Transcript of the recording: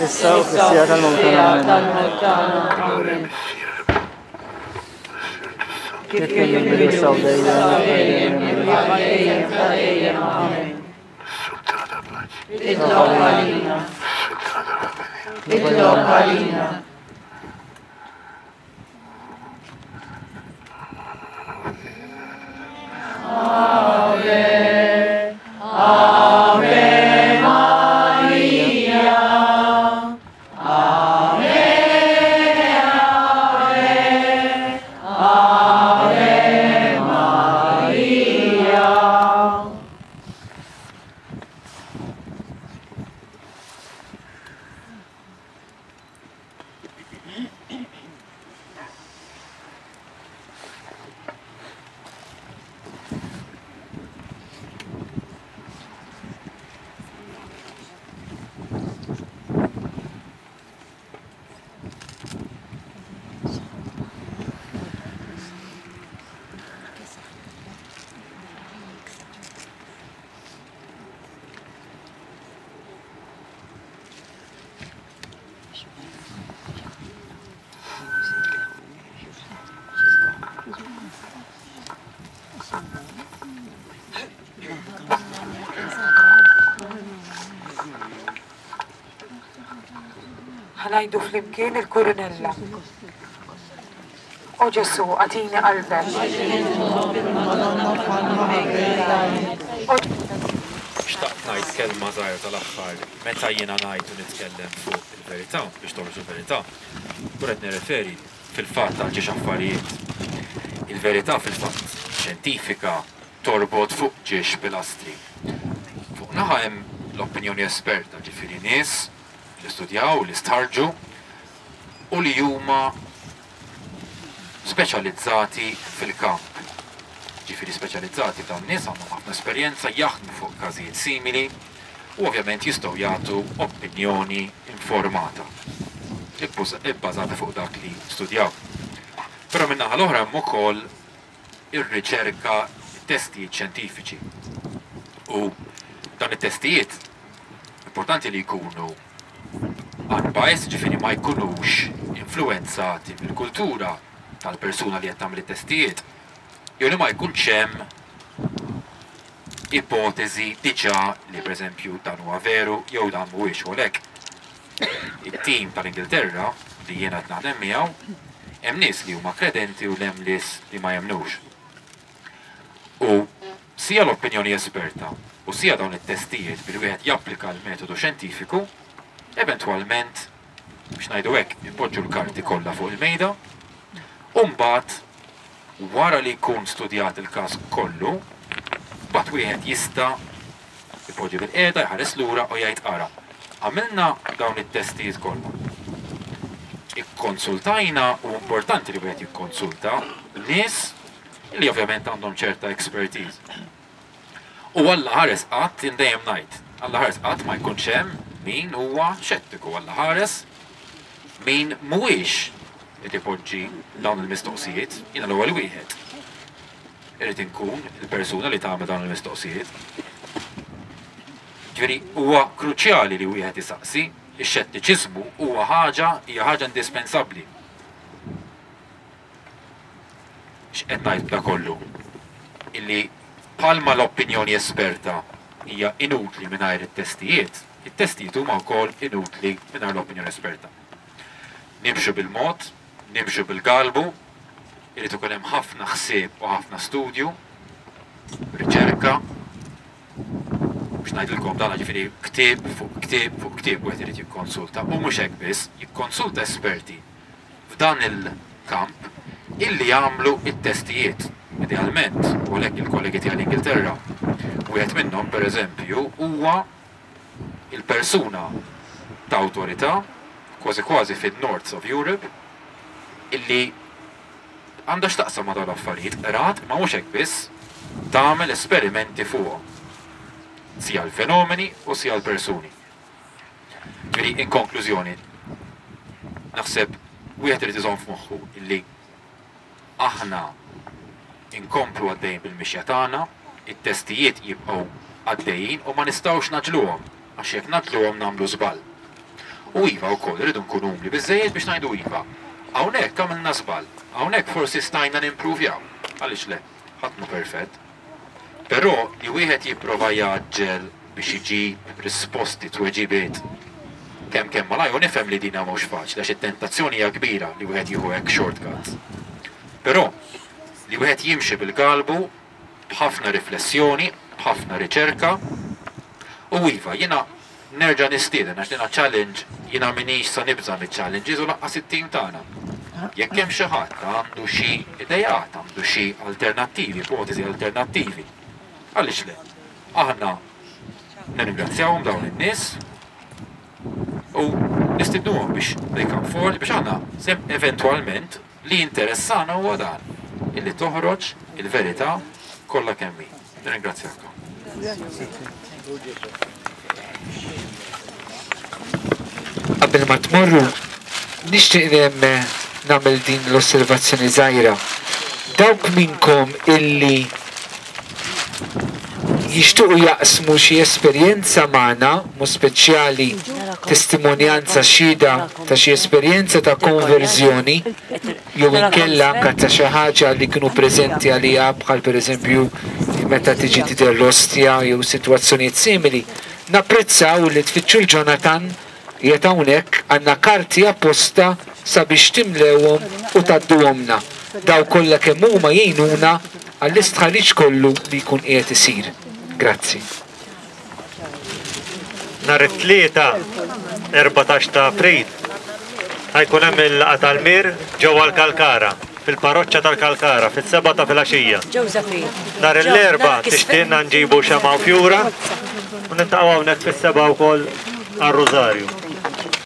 Issa u fis-siegħa tal-mewt tagħna. Amen. Kif kien fil-bidu issa u dejjem, dejjem, amen. Itlob għalina. Itlob għalina. Ave, Ave Maria. Ave, Ave, Ave Maria. Ħa ngħidu flimkien il-kurunella. O Ġesù, agħtini qalbek. Xtaqt ngħid kelma żgħira tal-aħħar meta jiena ngħid u nitkellem fuq il-verità, biex toħroġ il-verità, nkun qed nirreferi fil-fatt għal ġiex affarijiet. Il-verità fil-fatt xjentifika torbot fuq ġiex pilastri. Fuq naħa hemm l-opinjoni esperta, ġifieri nies li studjaw, li stħarrġu u li huma speċjalizzati fil-kamp. Ġifieri speċjalizzati dawn nies għandhom ħafna esperjenza jaħdmu fuq każijiet simili u ovvjament jistgħu jagħtu opinjoni informata ibbażata fuq dak li studjaw. Però min-naħa l-oħra hemm ukoll ir-riċerka, it-testijiet xjentifiċi. U dawn it-testijiet importanti li jkunu unbiased, ġifieri ma jkunux influwenzati mill-kultura tal-persuna li qed tagħmel it-testijiet, jew li ma jkunx hemm ipoteżi diġà li pereżempju dan huwa veru jew dan mhuwiex u għalhekk it-tim tal-Ingilterra li jiena qed naħdem miegħu hemm nies li huma kredenti u hemm nies li ma jemmnux. U sia l-opinjoni esperta u sia dawn it-testijiet billi wieħed japplika l-metodu xjentifiku, eventwalment biex ngħidu hekk, ipoġġu l-karti kollha fuq il-mejda u mbagħad wara li jkun studjat il-każ kollu, mbagħad wieħed jista' ipoġġi bilqiegħda, jħares lura u jgħid ara, għamilna dawn it-testijiet kollha. Ikkonsultajna u importanti li wieħed jikkonsulta nies li ovvjament għandhom ċerta expertise. U Alla ħares qatt, jien dejjem ngħid, Alla ħares qatt ma jkunx hemm min huwa xettiku, Alla ħares min mhuwiex qed ipoġġi dawn il-mistoqsijiet, jiena l-ewwel wieħed. Irrid inkun il-persuna li tagħmel dawn il-mistoqsijiet. Ġifieri huwa kruċjali li wieħed isaqsi, ix-xettiċiżmu huwa ħaġa hija ħaġa indispensabbli. X'qed ngħid b'da kollu? Illi bħalma l-opinjoni esperta hija inutli mingħajr it-testijiet, it-testijiet huma wkoll inutli mingħajr l-opinjoni esperta. Nimxu bil-mod, nimxu bil-galbu, irid ikun hemm ħafna ħsieb u ħafna studju, riċerka, biex ngħidilkom dan ġifieri ktieb fuq ktieb fuq ktieb wieħed irid jikkonsulta u mhux hekk biss, jikkonsulta esperti f'dan il-kamp illi jagħmlu t-testijiet. Idealment, u għalhekk il-kollegi tiegħi l-Ingilterra, wieħed minnhom pereżempju huwa. il-persuna ta' awtorità, kważi kważi fin-North of Europe, illi għandha x'taqsam ma' dawn l-affarijiet, qrat, imma mhux hekk biss, tagħmel esperimenti fuqhom. Sia l-fenomeni u sia l-persuni. Ġifieri, in konklużjoni, naħseb wieħed irid iżomm f'moħħu illi aħna nkomplu għaddejjin bil-mixja tagħna, it-testijiet jibqgħu għaddejjin u ma nistgħux ngħaġġluhom għax jekk ngħaġġluhom nagħmlu żball. U iva wkoll irridu nkunu umli biżżejjed biex ngħidu iva, hawnhekk għamilna żball, hawnhekk forsi stajna nimpruvjaw. Għaliex le? Ħadd mhu perfett. Però li wieħed jipprova jgħaġġel biex iġib risposti, tweġibiet, kemm kemm malajr, u nifhem li dina mhux faċli għax it-tentazzjoni hija kbira li wieħed jieħu hekk shortcuts. Però li wieħed jimxi bil-galbu, b'ħafna riflessjoni, b'ħafna riċerka, u iva, jiena nerġa' nistieden għax dina challenge, jiena m'iniex sa nibża' miċ-challenges u lanqas it-tim tagħna. Jekk hemm xi ħadd għandu xi ideat, għandu xi alternattivi, ipoteżi alternattivi, għaliex le? Aħna nirringrazzjawhom dawn in-nies u nistidnuhom biex they come forward biex aħna eventwalment li jinteressana huwa dan, illi toħroġ il-verità kollha kemm hi. Nirringrazzjakom. Qabel ma tmorru, nixtieq nagħmel din l-osservazzjoni żgħira. Dawk minnkom illi jixtiequ jaqsmu xi esperjenza magħna, mod speċjali testimonjanza xhieda ta' xi esperjenza ta' konverżjoni jew inkella anke ta' xi ħaġa li kienu preżenti għaliha bħal pereżempju meta tiġi tidher l-ostja jew sitwazzjonijiet simili, napprezzaw li tfittxu 'l Jonathan Qiegħed hawnhekk, għandna karti apposta sabiex timlewhom u tgħadduhomlna. Dawk kollha kemm huma jgħinuna għall-istħarriġ kollu li jkun qiegħed isir. Grazzi. Nhar it-Tlieta, 14 ta' April, ħa jkun hemm il-laqgħa tal-Mir ġewwa l-Kalkara, fil-Parroċċa tal-Kalkara, fis-sebgħa ta' filgħaxija. Nhar l-Erbgħa tixtieqna nġibu xemgħa u fjura u niltaqgħu hawnhekk fis-sebgħa wkoll għar-Rużarju.